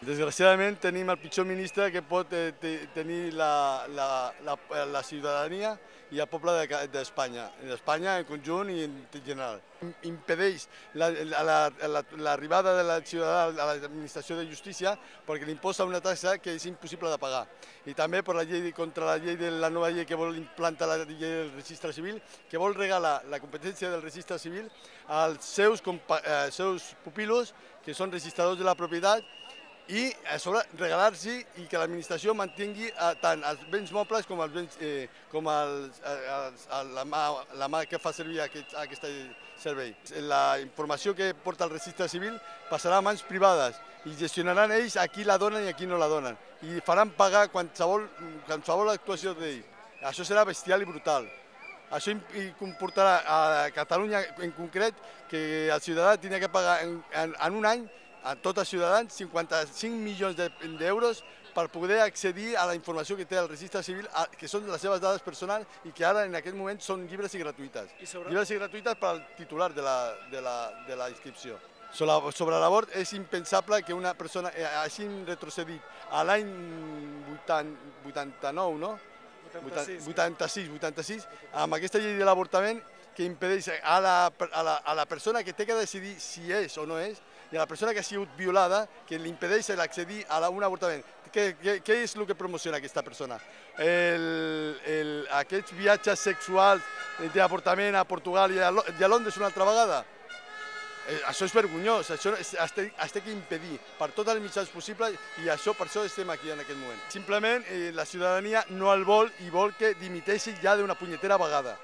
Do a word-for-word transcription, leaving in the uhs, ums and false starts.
Desgraciadament tenim el pitjor ministre que pot eh, tenir la, la, la, la ciutadania i el poble d'Espanya, d'Espanya en conjunt i en general. Impedeix l'arribada de la ciutadania a l'administració de justícia perquè li imposa una taxa que és impossible de pagar. I també per la llei contra la llei de la nova llei que vol implantar la llei del registre civil, que vol regalar la competència del registre civil als seus, eh, seus pupilos, que són registradors de la propietat, i a sobre regalar-s'hi i que l'administració mantingui tant els béns mobles com, els béns, eh, com els, els, la, mà, la mà que fa servir aquest, aquest servei. La informació que porta el registre civil passarà a mans privades i gestionaran ells a qui la donen i a qui no la donen. I faran pagar qualsevol, qualsevol actuació d'ells. Això serà bestial i brutal. Això comportarà a Catalunya en concret que el ciutadà tindrà que pagar en, en, en un any a tots els ciutadans cinquanta-cinc milions d'euros per poder accedir a la informació que té el registre civil, que són les seves dades personals i que ara en aquest moment són lliures i gratuïtes. I sobre... Lliures i gratuïtes per al titular de la, de la, de la inscripció. Sobre, sobre l'abort és impensable que una persona hagi retrocedit a l'any vuitanta-nou, no? vuitanta-sis, vuitanta-sis, amb aquesta llei de l'avortament que impedeix a la, a, la, a la persona que té que decidir si és o no és, i a la persona que ha sigut violada, que li impedeix l'accedir a un avortament. Què, què, què és el que promociona aquesta persona? El, el, aquests viatges sexuals d'avortament a Portugal i a, i a Londres una altra vegada? Eh, això és vergonyós, això es té, es té que impedir per tots els mitjans possibles i això, per això estem aquí en aquest moment. Simplement eh, la ciutadania no el vol i vol que dimiteixi ja d'una punyetera vegada.